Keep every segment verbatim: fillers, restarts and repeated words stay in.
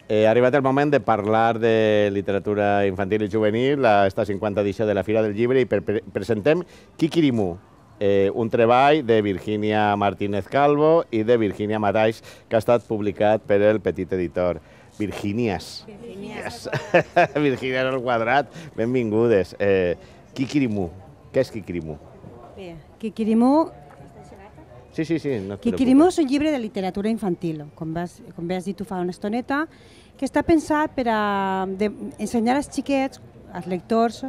Ha arribat el moment de parlar de literatura infantil i juvenil, esta cinquanta edició de la Fira del Llibre, i presentem Kikirimu, un treball de Virginia Martínez Calvo i de Virginia Marais, que ha estat publicat per el Petit Editor. Virginias. Virginias. Virginias al quadrat, benvingudes. Kikirimu, què és Kikirimu? Bé, Kikirimu... Sí, sí, sí. Kikirimu és un llibre de literatura infantil, com bé has dit tu fa una estoneta, que està pensat per ensenyar als xiquets, als lectors,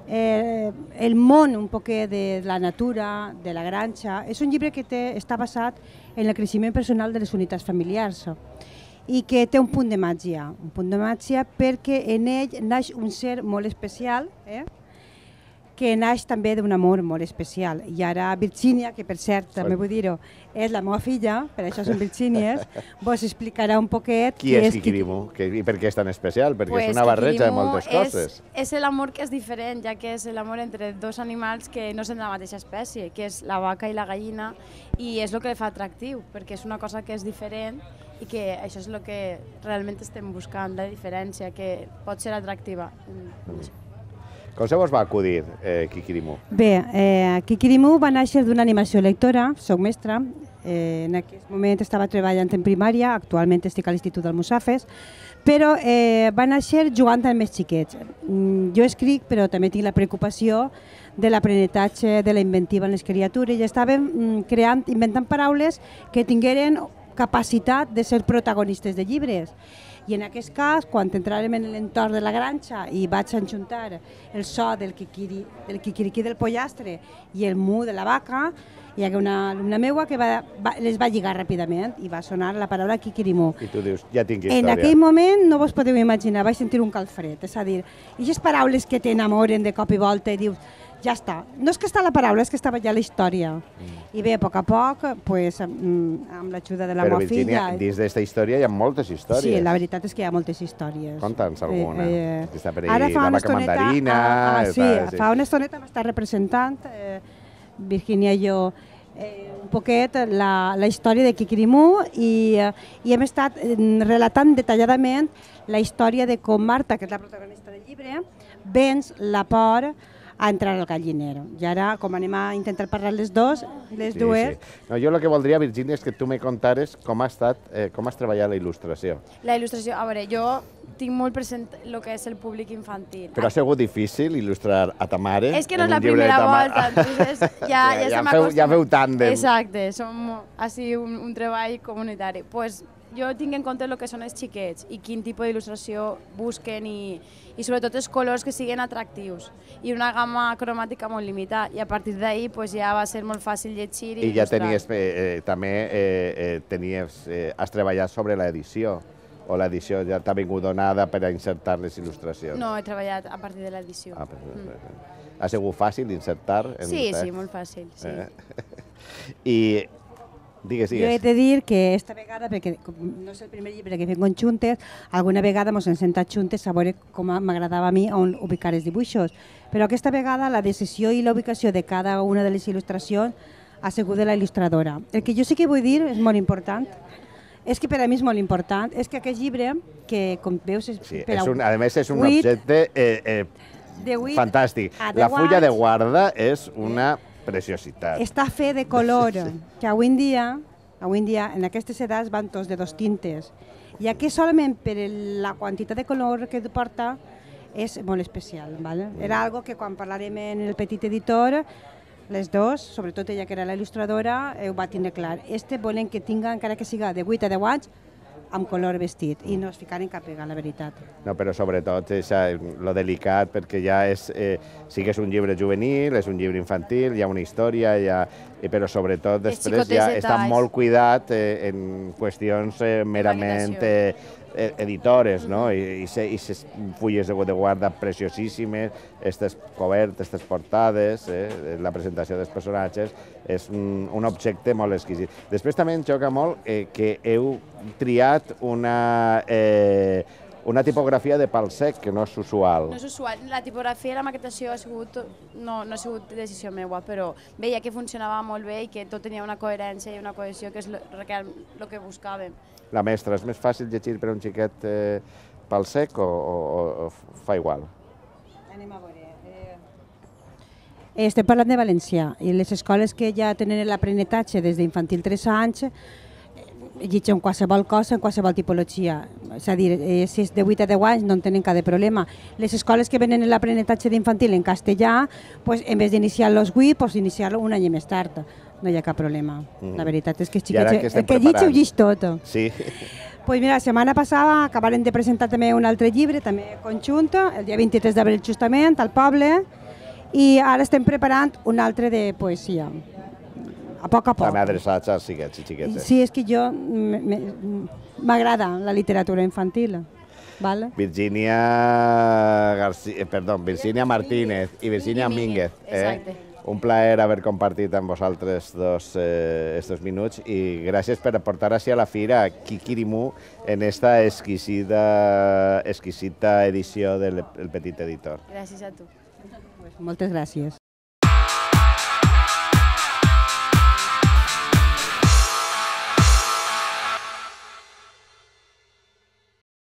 el món un poquet de la natura, de la granja. És un llibre que està basat en el creixement personal de les unitats familiars i que té un punt de màgia, un punt de màgia perquè en ell naix un ser molt especial, que naix també d'un amor molt especial. I ara Virginia, que per cert, també vull dir-ho, és la meva filla, per això són Virginies, vos explicarà un poquet... Qui és Kikirimu i per què és tan especial? Perquè és una barreja de moltes coses. És l'amor que és diferent, ja que és l'amor entre dos animals que no són de la mateixa espècie, que és la vaca i la gallina, i és el que li fa atractiu, perquè és una cosa que és diferent i que això és el que realment estem buscant, la diferència, que pot ser atractiva. Com se vos va acudir Kikirimu? Bé, Kikirimu va néixer d'una animació lectora, soc mestra, en aquest moment estava treballant en primària, actualment estic a l'Institut d'Almussafes, però va néixer jugant amb més xiquets. Jo escric, però també tinc la preocupació de l'aprenentatge, de la inventiva en les criatures, i estàvem creant, inventant paraules que tingueren capacitat de ser protagonistes de llibres. I en aquest cas, quan entràrem en l'entorn de la granja i vaig enjuntar el so del quiquiriquí del pollastre i el mu de la vaca, hi ha una alumna meva que les va lligar ràpidament i va sonar la paraula Kikirimu. I tu dius, ja tinc història. En aquell moment no vos podeu imaginar, vaig sentir un calfred, és a dir, aquestes paraules que t'enamoren de cop i volta i dius, ja està. No és que està la paraula, és que estava ja la història. I bé, a poc a poc, amb l'ajuda de la meva filla... Però, Virginia, dins d'aquesta història hi ha moltes històries. Sí, la veritat és que hi ha moltes històries. Conta'ns alguna. Està per ahí la vaca mandarina... Sí, fa una estoneta m'està representant, Virginia i jo, un poquet la història de Kikirimu i hem estat relatant detalladament la història de com Marta, que és la protagonista del llibre, venç la por a entrar al galliner. I ara, com anem a intentar parlar les dues, les dues... Jo el que voldria, Virginia, és que tu me contares com has treballat la il·lustració. La il·lustració, a veure, jo tinc molt present el que és el públic infantil. Però ha sigut difícil il·lustrar a ta mare? És que no és la primera volta, entonces ja se m'acostuma. Ja feu tàndem. Exacte, ha sigut un treball comunitari. Pues jo tinc en compte el que són els xiquets i quin tipus d'il·lustració busquen i sobretot els colors que siguin atractius i una gamma cromàtica molt limitada i a partir d'ahir ja va ser molt fàcil llegir i il·lustrar. I ja també has treballat sobre l'edició o l'edició ja t'ha vingut donada per a insertar les il·lustracions? No, he treballat a partir de l'edició. Ha sigut fàcil insertar? Sí, sí, molt fàcil. I digues, digues. Jo he de dir que esta vegada, perquè no és el primer llibre que fem juntes, alguna vegada ens hem sentat juntes a veure com m'agradava a mi on ubicar els dibuixos. Però aquesta vegada la decisió i la ubicació de cada una de les il·lustracions ha sigut de la il·lustradora. El que jo sí que vull dir és molt important, és que per a mi és molt important, és que aquest llibre, que com veus és per a... A més és un objecte fantàstic. La fulla de guarda és una preciositat. Està fet de color, que avui en dia, avui en dia, en aquestes edats van tots de dos tintes. I aquí solament per la quantitat de color que porta és molt especial. Era algo que quan parlarem en el Petit Editor, les dues, sobretot ella que era la il·lustradora, ho va tindre clar. Este volen que tinga, encara que siga de vuit a deu anys, amb color vestit i no es ficaren cap pega, la veritat. No, però sobretot és lo delicat perquè ja és, sí que és un llibre juvenil, és un llibre infantil, hi ha una història, però sobretot després ja està molt cuidat en qüestions merament editores, no? I aquestes fulles de guarda preciosíssimes, aquestes cobertes, aquestes portades, la presentació dels personatges, és un objecte molt exquisit. Després també em xoca molt que heu triat una una tipografia de pal sec, que no és usual. No és usual. La tipografia i la maquetació no ha sigut decisió meva, però veia que funcionava molt bé i que tot tenia una coherència i una cohesió, que és el que buscàvem. la mestra, és més fàcil llegir per un xiquet eh, pel sec o, o, o fa igual? Anem a veure. Eh, estem parlant de València i les escoles que ja tenen l'aprenentatge des d'infantil tres anys llegeixen qualsevol cosa en qualsevol tipologia. És a dir, eh, si és de vuit a deu anys no en tenen cap problema. Les escoles que venen l'aprenentatge d'infantil en castellà, pues, en vez d'iniciar-lo als vuit, pues, iniciar-lo un any més tard. No hi ha cap problema. Mm. La veritat és que els xiquets, el que llig ho llig tot. Sí. Pues mira, la setmana passada acabaren de presentar també un altre llibre, també conjunt, el dia vint-i-tres d'abril justament, al poble, i ara estem preparant un altre de poesia. A poc a poc. També adreçats als xiquets i xiquetes. Sí, és que jo m'agrada la literatura infantil. Vale. Virginia García, perdó, Virginia Martínez i Virginia Mínguez. Exacte. Eh? Un plaer haver compartit amb vosaltres dos eh, estos minuts i gràcies per aportar així a la fira Kikirimu en esta exquisita, exquisita edició del Petit Editor. Gràcies a tu. Moltes gràcies.